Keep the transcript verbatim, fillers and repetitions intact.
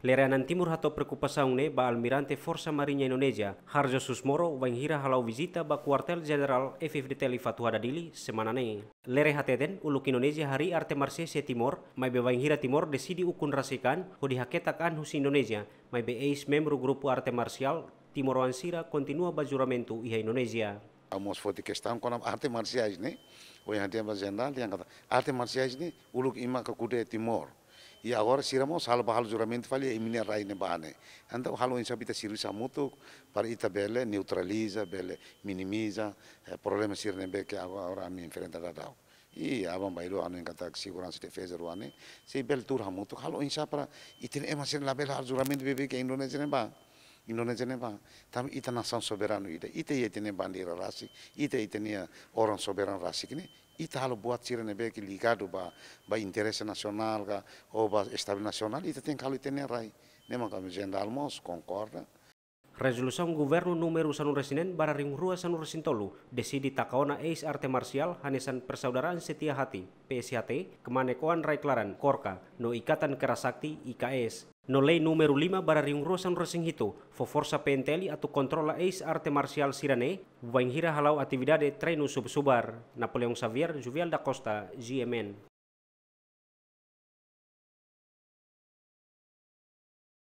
Lere Anan Timur hato'o preokupasaun ne'e ba Almirante Forsa Mariña Indonézia, Harjo Susmoro, wainhira hala'o vizita ba Kuartél Jenerál F-FDTL Fatuhada, Dili, semana ne'e. Lere hateten, uluk Indonézia harii arte marsiais iha Timor, maibé wainhira Timor deside ukun rasik an hodi haketak an husi Indonézia, maibé eis-membru grupu arte marsiál timoroan sira kontinua ba juramentu iha Indonézia. Ha'u mós foti kestaun kona-ba arte marsiais ne'e, ohin ha'u dehan ba jenerál, dehan katak arte marsiais ne'e uluk imi maka kuda iha Timor. I agora sira mós halo ba halo juramentu fali iha imi-nia rai ne'ebá ne'e. Entaun halo oinsá ita servisu hamutuk para ita bele neutraliza, bele minimiza, eh, problema sira ne'ebé ke agora ami enfrenta daudaun. I aban-bainrua hanoin katak seguransa i defeza rua ne'e, sei bele tuur hamutuk halo oinsá para ita-nia ema sira labele halo juramentu beibeik iha Indonézia ne'ebá. Indonézia ne'ebá. Tanba ita nasaun soberanu ida. Ita iha ita-nia bandeira rasik, ita iha ita-nia órgaun soberanu rasik ne'e, ita halo buat sira ne'ebé ke ligadu ba, ba interese nasionál ka, ou ba estabilidade nasionál, ita tenke halo iha ita-nia rai. Ne'e mak ami jenerál mós konkorda. Rezolusaun Governu númeru sanulu-resin-neen barra rihun rua sanulu-resin-tolu deside taka ona eis-arte marsiál hanesan Persaudaraan Setia Hati, P S H T, Kmanek Oan Rai Klaran, KORKA, no Ikatan Kerasakti, I K S. No Lei númeru lima barra rihun rua sanulu-resin-hitu fó forsa P N T L atu kontrola eis-arte marsiál sira-ne'e, wainhira hala'o atividade treinu subar-subar. Napoleão Xavier, Juvial da Costa, G M N.